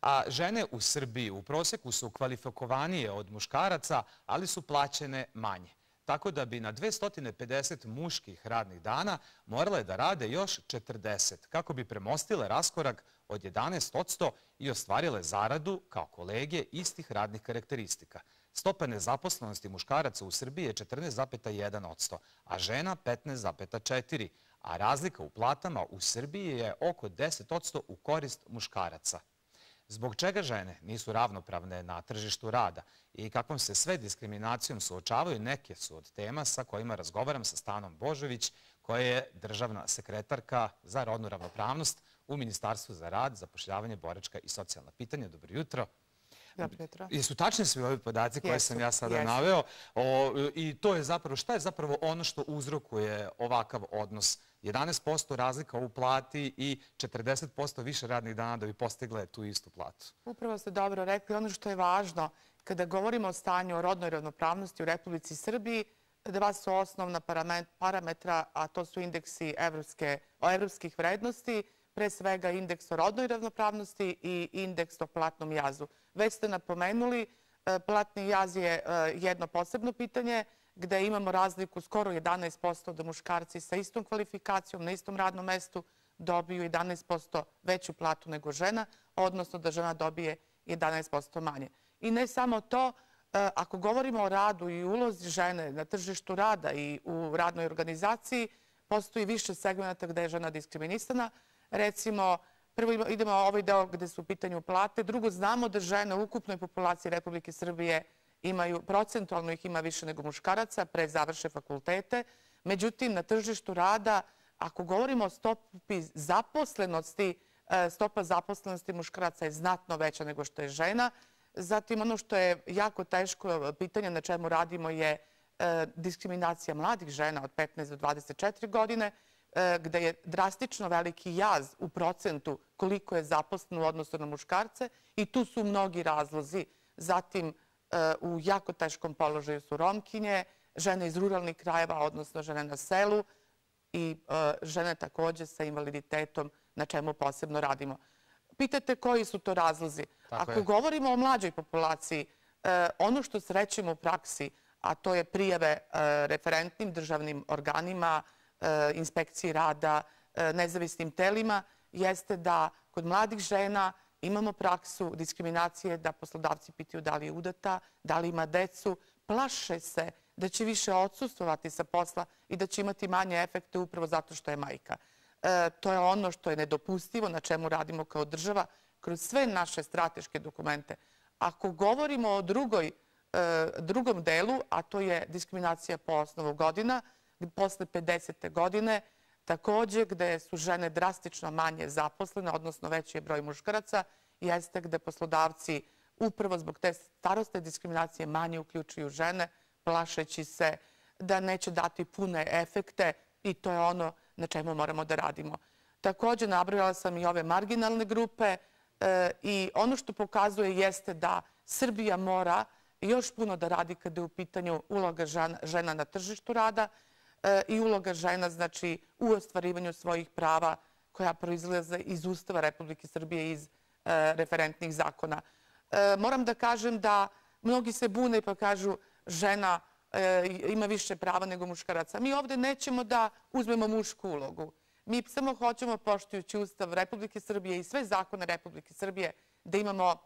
A žene u Srbiji u proseku su kvalifikovanije od muškaraca, ali su plaćene manje. Tako da bi na 250 muških radnih dana morale da rade još 40, kako bi premostile raskorak od 11% i ostvarile zaradu kao kolege istih radnih karakteristika. Stopa nezaposlenosti muškaraca u Srbiji je 14,1%, a žena 15,4%, a razlika u platama u Srbiji je oko 10% u korist muškaraca. Zbog čega žene nisu ravnopravne na tržištu rada i kakvom se sve diskriminacijom suočavaju, neke su od tema sa kojima razgovaram sa Stanom Božović, koja je državna sekretarka za rodnu ravnopravnost u Ministarstvu za rad, zapošljavanje, boračka i socijalna pitanja. Dobro jutro. Dobro jutro. Jesu tačni svi ovi podaci koje sam ja sada naveo? I to je zapravo, šta je zapravo ono što uzrokuje ovakav odnos? 11% razlika u plati i 40% više radnih dana da bi postigle tu istu platu. Upravo ste dobro rekli. Ono što je važno, kada govorimo o stanju o rodnoj ravnopravnosti u Republici Srbiji, dva su osnovna parametra, a to su indeksi evropskih vrednosti, pre svega indeks o rodnoj ravnopravnosti i indeks o platnom jazu. Već ste napomenuli, platni jaz je jedno posebno pitanje, gde imamo razliku skoro 11% da muškarci sa istom kvalifikacijom na istom radnom mestu dobiju 11% veću platu nego žena, odnosno da žena dobije 11% manje. I ne samo to, ako govorimo o radu i ulozi žene na tržištu rada i u radnoj organizaciji, postoji više segmenta gde je žena diskriminisana. Recimo, prvo idemo ovaj deo gde su u pitanju plate. Drugo, znamo da žene u ukupnoj populaciji Republike Srbije procentualno ih ima više nego muškaraca pre završe fakultete. Međutim, na tržištu rada, ako govorimo o stopi zaposlenosti, stopa zaposlenosti muškaraca je znatno veća nego što je žena. Zatim, ono što je jako teško pitanje na čemu radimo je diskriminacija mladih žena od 15 do 24 godine, gde je drastično veliki jaz u procentu koliko je zaposleno u odnosu na muškarce i tu su mnogi razlozi. Zatim, u jako teškom položaju su Romkinje, žene iz ruralnih krajeva, odnosno žene na selu i žene takođe sa invaliditetom, na čemu posebno radimo. Pitate koji su to razlozi? Ako govorimo o mlađoj populaciji, ono što srećemo u praksi, a to je prijave referentnim državnim organima, inspekciji rada, nezavisnim telima, jeste da kod mladih žena imamo praksu diskriminacije da poslodavci pitaju da li je udata, da li ima decu, plaše se da će više odsustvovati sa posla i da će imati manje efekte upravo zato što je majka. To je ono što je nedopustivo, na čemu radimo kao država kroz sve naše strateške dokumente. Ako govorimo o drugom delu, a to je diskriminacija po osnovu godina, posle 50. godine, takođe gde su žene drastično manje zaposlene, odnosno veći je broj muškaraca, jeste gde poslodavci upravo zbog te starosne diskriminacije manje uključuju žene, plašeći se da neće dati pune efekte i to je ono na čemu moramo da radimo. Takođe, nabrojala sam i ove marginalne grupe i ono što pokazuje jeste da Srbija mora još puno da radi kada je u pitanju uloga žena na tržištu rada i uloga žena znači u ostvarivanju svojih prava koja proizlaze iz Ustava Republike Srbije, iz referentnih zakona. Moram da kažem da mnogi se bune pa kažu žena ima više prava nego muškaraca. Mi ovde nećemo da uzmemo mušku ulogu. Mi samo hoćemo, poštujući Ustav Republike Srbije i sve zakone Republike Srbije, da imamo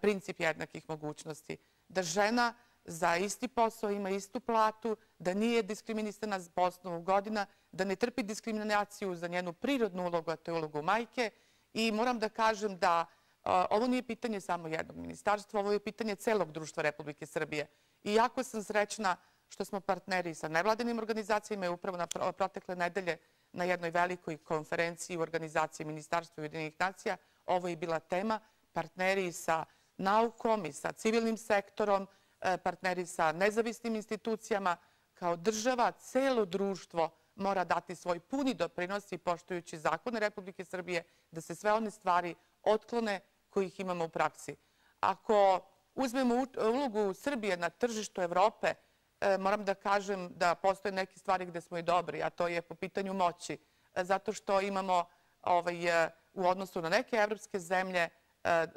princip jednakih mogućnosti. Da žena za isti posao ima istu platu, da nije diskriminisana po osnovu godina, da ne trpi diskriminaciju za njenu prirodnu ulogu, a to je ulogu majke. I moram da kažem da ovo nije pitanje samo jednog ministarstva, ovo je pitanje celog društva Republike Srbije. I jako sam srećna što smo partneri sa nevladinim organizacijama i upravo na protekle nedelje na jednoj velikoj konferenciji u organizaciji Ministarstva Ujedinjenih nacija. Ovo je bila tema, partneri sa naukom i sa civilnim sektorom, partneri sa nezavisnim institucijama. Kao država, celo društvo mora dati svoj puni doprinos i poštujući zakone Republike Srbije da se sve one stvari otklone kojih imamo u praksi. Ako uzmemo ulogu Srbije na tržištu Evrope, moram da kažem da postoje neke stvari gde smo i dobri, a to je po pitanju moći. Zato što imamo u odnosu na neke evropske zemlje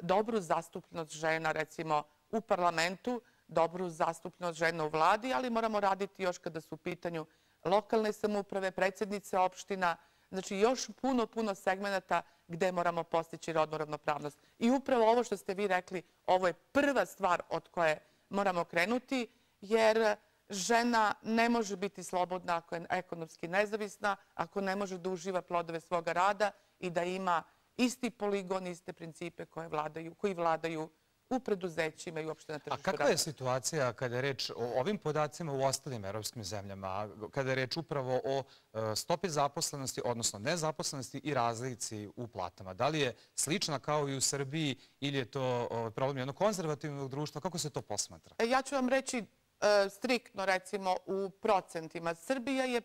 dobru zastupljenost žena, recimo, u parlamentu, dobru zastupljenost žena u vladi, ali moramo raditi još kada su u pitanju lokalne samouprave, predsjednice opština, znači još puno segmenata gde moramo postići rodnu ravnopravnost. I upravo ovo što ste vi rekli, ovo je prva stvar od koje moramo krenuti, jer žena ne može biti slobodna ako je ekonomski nezavisna, ako ne može da uživa plodove svoga rada i da ima isti poligon, iste principe koji vladaju u preduzećima i uopšte na tržištu rada. A kakva je situacija kada je reč o ovim podacima u ostalim evropskim zemljama, kada je reč upravo o stopi zaposlenosti, odnosno nezaposlenosti i razlici u platama? Da li je slična kao i u Srbiji ili je to problem jednog konzervativnog društva? Kako se to posmatra? Ja ću vam reći striktno, recimo, u procentima. Srbija je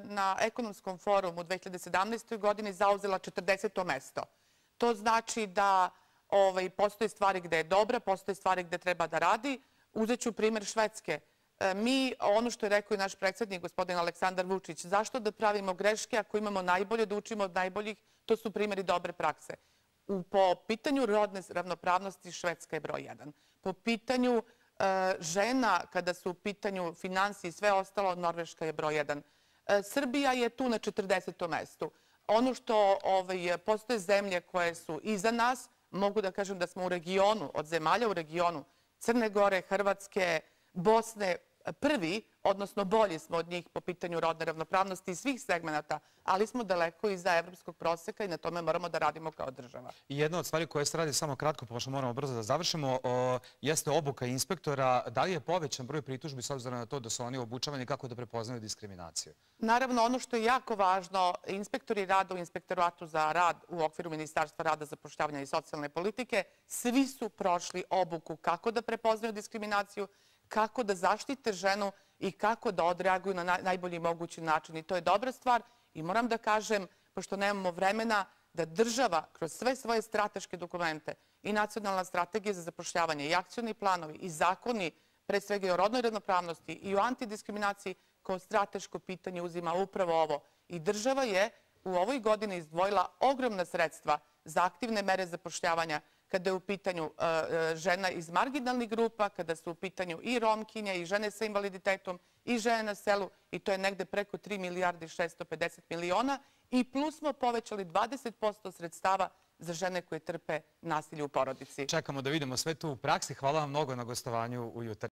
na ekonomskom forumu u 2017. godini zauzela 40. mesto. To znači da postoje stvari gde je dobra, postoje stvari gde treba da radi. Uzet ću primer Švedske. Mi, ono što je rekao i naš predsjednik, gospodin Aleksandar Vučić, zašto da pravimo greške ako imamo najbolje, da učimo od najboljih, to su primjeri dobre prakse. Po pitanju rodne ravnopravnosti Švedska je broj 1. Po pitanju žena, kada su u pitanju finansije i sve ostalo, Norveška je broj 1. Srbija je tu na 40. mestu. Ono što postoje zemlje koje su iza nas, mogu da kažem da smo u regionu, od zemalja u regionu, Crne Gore, Hrvatske, Bosne, prvi, odnosno bolji smo od njih po pitanju rodne ravnopravnosti i svih segmenata, ali smo daleko iza evropskog proseka i na tome moramo da radimo kao država. I jedna od stvari koje se radi, samo kratko, pošto moramo brzo da završimo, jeste obuka inspektora. Da li je povećan broj pritužbi s obzirom na to da su oni obučavani kako da prepoznaju diskriminaciju? Naravno, ono što je jako važno, inspektori rada u Inspektoratu za rad u okviru Ministarstva rada, zapošljavanja i socijalne politike, svi su prošli obuku kako da prepoznaju diskriminaciju, kako da zaštite ženu i kako da odreaguju na najbolji mogući način. I to je dobra stvar. I moram da kažem, pošto nemamo vremena, da država kroz sve svoje strateške dokumente i nacionalna strategija za zapošljavanje i akcioni planovi i zakoni, pre svega i o rodnoj ravnopravnosti i o antidiskriminaciji, kao strateško pitanje uzima upravo ovo. I država je u ovoj godini izdvojila ogromna sredstva za aktivne mere zapošljavanja, kada je u pitanju žena iz marginalnih grupa, kada su u pitanju i Romkinje, i žene sa invaliditetom, i žene na selu, i to je negde preko 3 milijarde i 650 miliona, i plus smo povećali 20% sredstava za žene koje trpe nasilje u porodici. Čekamo da vidimo sve to u praksi. Hvala vam mnogo na gostovanju u Jutarnjem.